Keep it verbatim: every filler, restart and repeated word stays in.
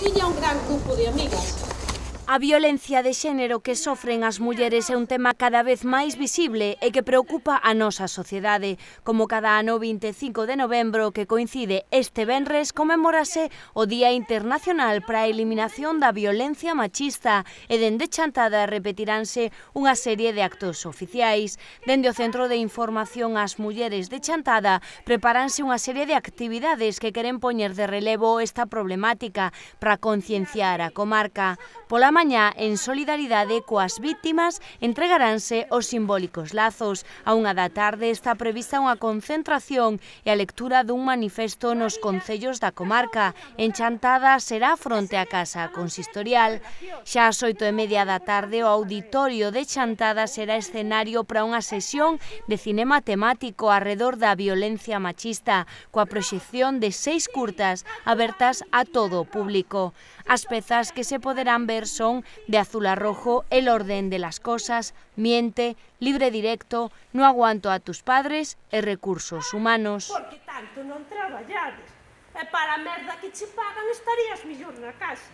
tiña un gran grupo de amigas. A violencia de xénero que sofren as mulleres é un tema cada vez máis visible e que preocupa a nosa sociedade. Como cada ano vinte e cinco de novembro, que coincide este venres, conmemórase o Día Internacional para a Eliminación da Violencia Machista e dende Chantada repetiránse unha serie de actos oficiais. Dende o Centro de Información ás Mulleres de Chantada preparanse unha serie de actividades que queren poñer de relevo esta problemática para concienciar a comarca. Pola mañá, en solidaridade coas vítimas, entregaránse os simbólicos lazos. A unha da tarde está prevista unha concentración e a lectura dun manifesto nos concellos da comarca. En Chantada será fronte á Casa Consistorial. Xa ás oito e media da tarde, o auditorio de Chantada será escenario para unha sesión de cinema temático arredor da violencia machista, coa proxección de seis curtas abertas a todo o público. As pezas que se poderán ver son De azul a rojo, El orden de las cosas, Miente, Libre directo, No aguanto a tus padres e Recursos humanos. Por que tanto non traballades? E para a merda que che pagan estarías mellor na casa.